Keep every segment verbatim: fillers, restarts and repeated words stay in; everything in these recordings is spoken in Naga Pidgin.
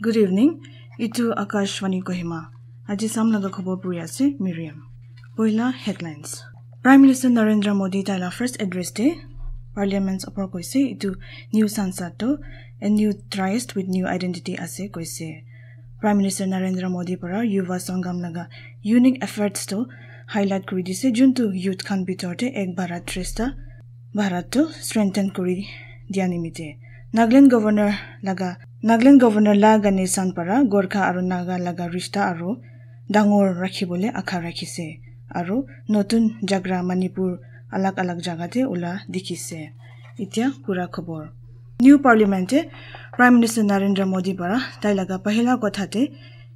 Good evening. Itu Akashvani Kohima. Aji sam laga khobor puri ase Miriam. Poila headlines. Prime Minister Narendra Modi taila first address te Parliament opor koise itu new Sansad to a new tryst with new identity ase koise. Prime Minister Narendra Modi para Yuva Sangam laga unique efforts to highlight kuri dise, juntu youth khan bitor te Ek Bharat Shreshtha Bharat to strengthen kuri dia nimite Nagaland Governor laga Nagaland Governor La Ganesan para Gorkha aru Naga laga rishta aru dangor rakhibole akha rakhise aru notun jagra Manipur alag alag jaga te ula dikhise. Itya pura khobor. New Parliament te Prime Minister Narendra Modi para tai laga pahila kotha te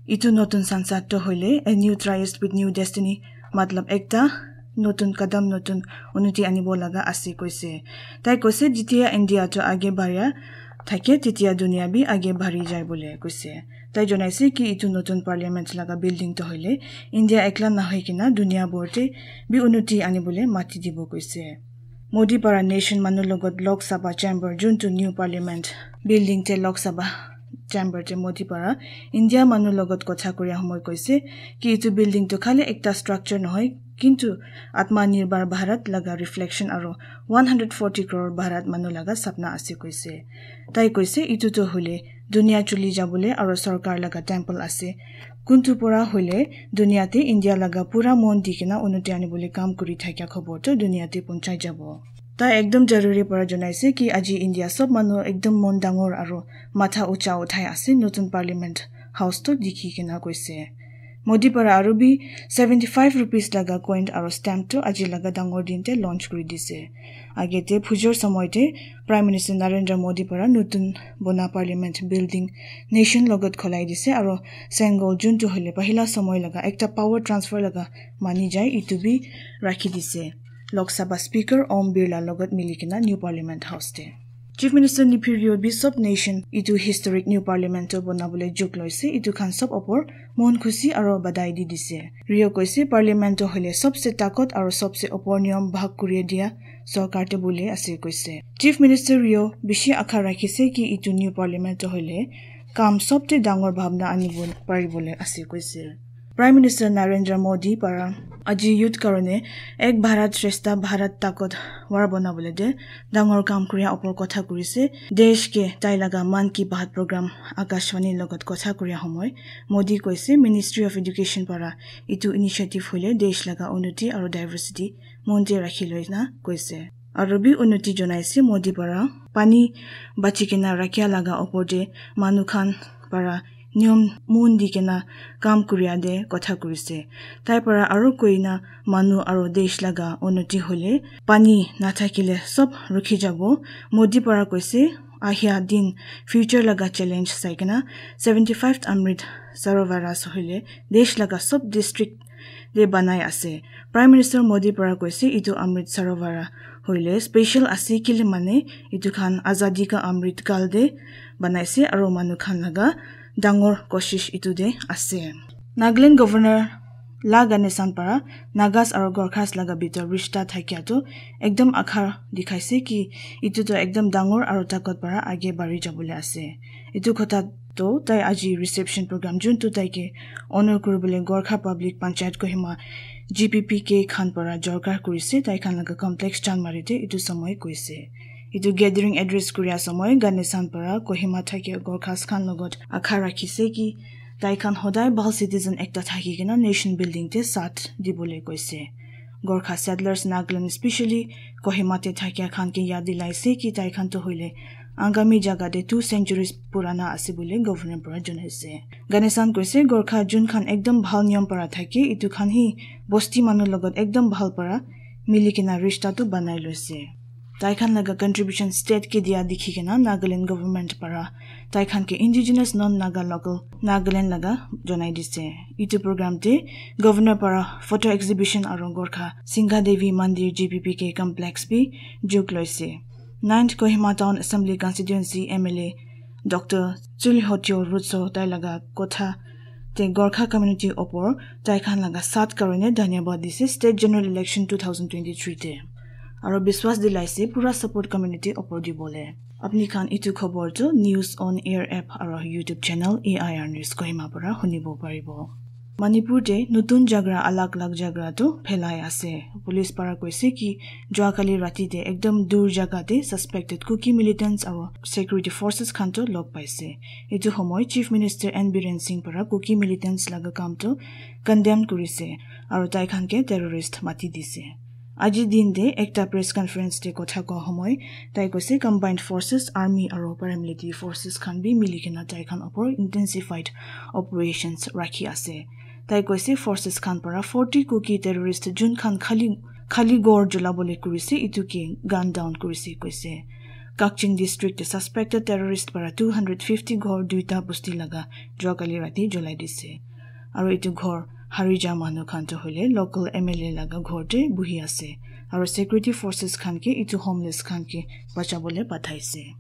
itu notun Sansad to hoile a new tryst with new destiny, matlab ekta notun kadam, notun unnoti anibo laga ase koise. Tai koise, "Jitiya India to age bhariya thake, titiya duniya bi age bhari jai," bole koise. Tai jonaise ki itu notun Parliament laga building to hoile India ekla nahoi kena duniya bhor te bi unnoti anibole mati dibo koise. Modi para nation manu logot Lok Sabha chamber, juntu new Parliament building te Lok Sabha chamber te Modi para India manu logot kotha kuria homoi koise ki itu building to khali ekta structure nohoi, kintu Atma Nirbhar Bharat laga reflection aro one hundred forty crore Bharat manu laga sapna ase koise. Tai koise itu to hoile duniya chuli jabole aro sorkar laga temple ase. Kuntu pura hoile duniya te India laga pura mon di kena unnoti anibole kam kuri thakia khobor to duniya te punchai jabo. Tai ekdom jaruri para jonaise ki aji India sob manu ekdom mon dangor aro matha ucha uthai ase notun Parliament House to dikhi kena koise. Modi para aru bi seventy five rupees laga coin aro stamp to aji laga dangor din te launch kuri dise. Age te phujor somoy te Prime Minister Narendra Modi para notun bona Parliament building nation logot kholai dise aro Sengol juntu hoile pahila somoy laga ekta power transfer laga mani jai itu bi rakhi dise. Lok Sabha Speaker Om Birla logot mili kena new Parliament House te. Chief Minister Neiphiu Rio bi sob nation itu historic new parliament to bonabole juk loise, itu khan sob opor mon khusi aro badai di dise. Rio koise parliament to hoile sobse takot aro sobse opor niyom bhag kuri dia sorkar te bole ase koise. Chief Minister Rio bishi akha rakhise ki itu new parliament to hoile kam sobte dangor bhabna anibo paribole ase koise. Prime Minister Narendra Modi para aji youth karone Ek Bharat Shreshtha Bharat takot war bonabole de dangor kam kuria opor kotha kurise. Desh ke tai laga Mann Ki Baat program Akashvani logot kotha kuria homoi Modi koise Ministry of Education para itu initiative hoile desh laga unnoti aro diversity mon te rakhi loi na koise. Aro bi unnoti jonaise Modi para pani bachi kena rakhia laga opor te manu khan para niyom mon di kena kam kuria de kotha kurise. Tai para aro koina manu aro desh laga unnoti hole pani nathakile sob rukhi jabo. Modi para koise ahia din future laga challenge sai kena seventy five Amrit Sarovaras hoile desh laga sob district de banai ase. Prime Minister Modi para koise itu Amrit Sarovar hoile special ase kile mane itu khan azadi ka Amrit kal de banaise aro manu khan laga dangor koshish itu de ase. Nagaland Governor La Ganesan para Nagas aro Gorkhas laga bitor rishta thakia tu ekdom akha dikhaise ki itu tu ekdom dangor aro takot para age bari jabole ase. Itu kotha to tai aji reception program juntu tai ke honor kuribole Gorkha Public Panchayat Kohima G P P K khan para jorkar kurise, tai khan laga complex chan mari te itu samoi koise. Itu gathering address kuria samoi Ganesan para Kohima thakia Gorkhas khan logot akha rakhise ki tai khan hodai bhal citizen ekta thaki kena nation building te saath dibole koise. Gorkha settlers Nagaland, specially Kohima te thakia khan ke yad dilaise ki tai khan to hoile Angami jaga te two centuries purana ase bole governor para janaise. Ganesan koise Gorkha jun khan ekdom bhal niyom para thake, itu khan hi bosti manu logot ekdom bhal para mili kena rishta tu banai loise. Tai khan laga contribution state ke dia dikhi kena Nagaland government para tai khan ke indigenous non-Naga local Nagaland laga janai dise. Itu program te governor para photo exhibition aro Gorkha Singha Devi Mandir G P P K complex bi jug loise. Ninth Kohima Town Assembly Constituency M L A Doctor Chulihotio Rutso tai laga kotha te Gorkha community opor tai khan laga saath karone dhanyabad dise state general election two thousand twenty-three te. aro biswas dilaise pura support community opor dibole. Apni khan itu khobor tu News on Air app aro YouTube channel A I R News Kohima para hunibo paribo. Manipur te nutun jagra alag alag jagra tu phelai ase. Police para koise ki jua kali rati te ekdam dur jaga te suspected Kuki militants aro security forces khan tu log paise. Itu homoi Chief Minister N Biren Singh para Kuki militants laga kam tu condemn kurise aro tai khan ke terrorist mati dise. Aji din te ekta press conference te kotha koa homoi tai koise combined forces, army aro paramilitary forces khan bi mili kena tai khan opor intensified operations rakhi ase. Tai koise forces khan para forty Kuki terrorist jun khan khali khali ghor julabole kurise itu ke gun down kurise koise. Kakching district te suspected terrorist para two hundred fifty ghor duita bosti laga jua kali rati julai dise. Aro itu ghor hari ja manu khan tu hoile local M L A laga ghor te buhi ase. Aro security forces khan ke itu homeless khan ke bachabole pathaise.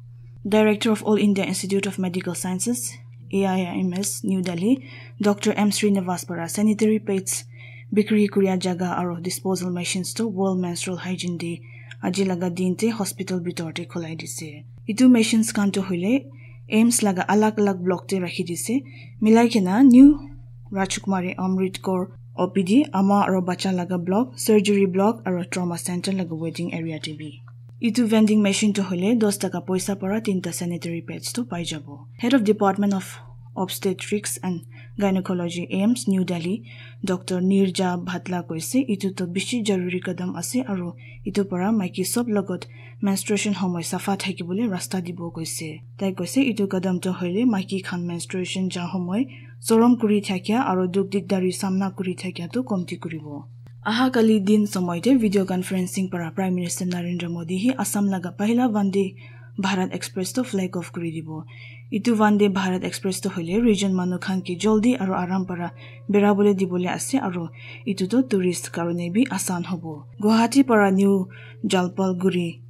Director of All India Institute of Medical Sciences, A I I M S, New Delhi, Doctor M Srinivas para sanitary pads bikri kuria jaga aro disposal machines to World Menstrual Hygiene Day aji laga din te hospital bitor te khulai dise. Itu machines khan to hoile AIIMS laga alag alag block te rakhi dise. Milai kena New Rajkumari Amrit Kaur O P D, ama aro bacha laga block, surgery block aro trauma center laga waiting area te bi. Itu vending machine to hoile dos taka poisa para tinta sanitary pads to pai jabo. Head of Department of Obstetrics and Gynecology, AIIMS, New Delhi, Doctor Nirja Bhatla koise itu to bishi jaruri kadam ase aro itu para maiki sob logot menstruation homoi safa thakibole rasta dibo koise. Tai koise itu kadam to hoile maiki khan menstruation ja homoi sorom kuri thakia aro duk dikdari samna kuri thakia to komti kuribo. Aha kali din somoy te video conferencing para Prime Minister Narendra Modi hi Assam laga pahila Vande Bharat Express to flag off kuri dibo. Itu Vande Bharat Express to hoile region manu khan ke joldi aro aram para berabole dibole ase aro itu to tourist karone bi asan hobo. Guwahati para New Jalpaiguri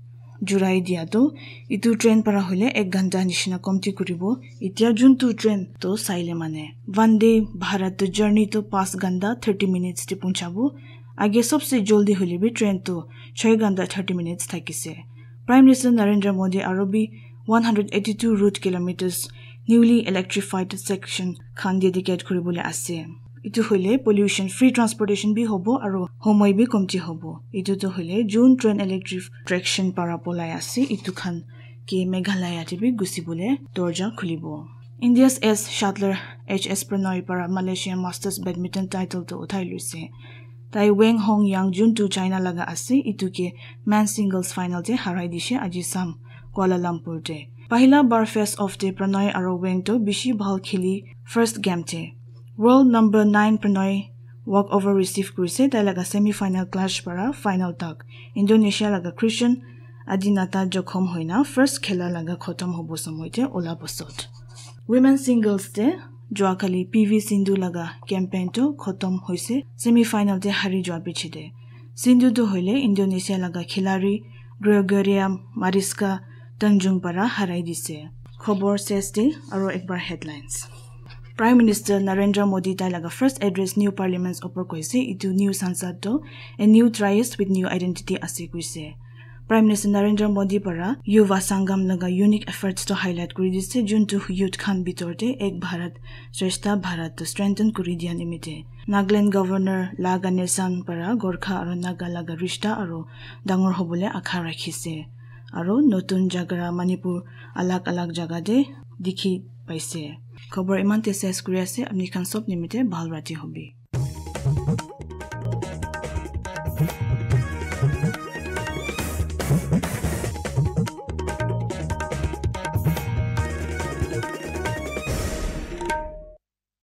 jurai dia to itu train para hoile ek ghanta nishina komti kuribo. Itya juntu train to saile mane Vande Bharat to journey to pas ghanta thirty minutes te punchabo. Age sobse joldi hoile bi train to choi ghanta thirty minutes thakise. Prime Minister Narendra Modi aro bi one hundred eighty-two route kilometers newly electrified section khan dedicate kuribole ase. Itu hoile pollution free transportation bi hobo aro homoi bi komti hobo. Itu to hoile June train electric traction para polai ase. Itu khan ke Meghalaya te bi gusibole dorja khulibo. India's ace shuttler H S Pranoy para Malaysia Masters badminton title to uthai luise. Tai Wang Hong Yang juntu China laga ase, itu ke men's singles final te harai dishe aji sam Kuala Lumpur te. Pahila bar face off te Pranoy aro Wang to bishi bhal kheli first game te. World number nine Pranoy walk over receive kurise, tai laga semi final clash para final tak. Indonesia laga Christian Adinata jokhom hoina first khela laga khotom hobo somoy te ola bosot. Women singles te jua kali P V Sindhu laga campaign to khotom hoise, semi final te hari jua piche te. Sindhu tu hoile Indonesia laga khilari Gregoria Mariska Tanjung para harai dise. Khobor ses te aro ekbar headlines. Prime Minister Narendra Modi tai laga first address new parliaments opor koise, itu new Sansad to a new triest with new identity ase koise. Prime Minister Narendra Modi para Yuva Sangam laga unique efforts to highlight kuri dise, juntu youth khan bitor te Ek Bharat Shreshtha Bharat to strengthen kuri dia nimite. Nagaland Governor La Ganesan para Gorkha aro Naga laga rishta aro dangor hobole akha rakhise. Aro notun jagra Manipur alag alag jaga te dikhi paise. Khobor iman te ses kuri ase, apni khan sob nimite bhal rati hobi.